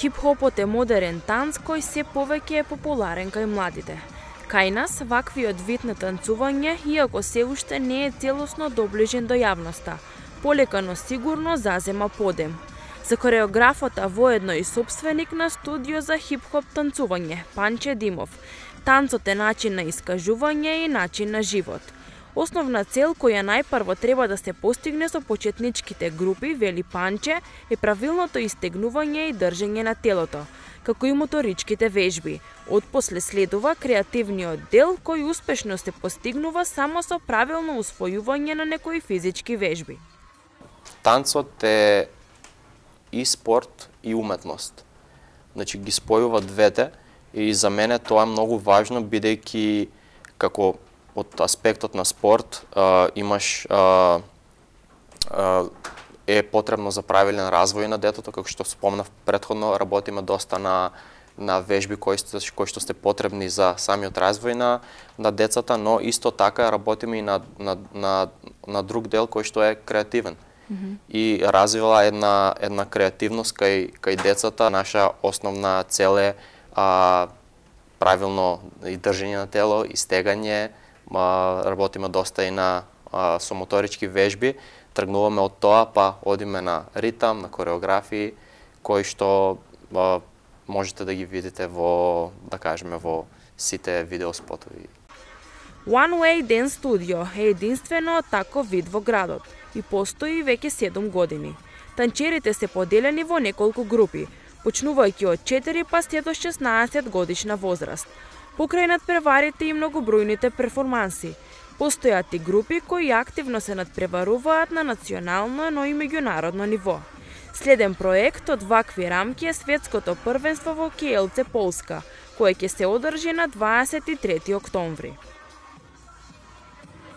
Хип-хопот е модерен танц кој се повеќе е популарен кај младите. Кај нас, ваквиот вид на танцување, иако се уште не е целосно доближен до јавноста, полека но сигурно зазема подем. За хореографот, а воедно и собственик на студио за хип-хоп танцување, Панче Димов, танцот е начин на искажување и начин на живот. Основна цел која најпрво треба да се постигне со почетничките групи, вели Панче, е правилното истегнување и држење на телото, како и моторичките вежби. Отпосле следува креативниот дел кој успешно се постигнува само со правилно усвојување на некои физички вежби. Танцот е и спорт и уметност. Значи ги спојува двете и за мене тоа е многу важно, бидејќи како од аспектот на спорт имаш е потребно за правилен развој на детето, како што спомнав претходно, работиме доста на вежби кои што се потребни за самиот развој на децата, но исто така работиме и на друг дел кој што е креативен. И развива една креативност кај децата. Наша основна цел е правилно и држење на тело, и стегање, работиме доста и со моторички вежби, тргнуваме од тоа, па одиме на ритам, на кореографии, кои што можете да ги видите во, да кажеме, во сите видеоспотови. One Way Dance Studio е единствено таков вид во градот и постои веќе 7 години. Танчерите се поделени во неколку групи, почнувајќи од 4 па се до 16 годишна возраст. Покрај надпреварите и многобројните перформанси, постојат и групи кои активно се надпреваруваат на национално, но и меѓународно ниво. Следен проект од вакви рамки е светското првенство во Киелце, Полска, кое ќе се одржи на 23 октомври.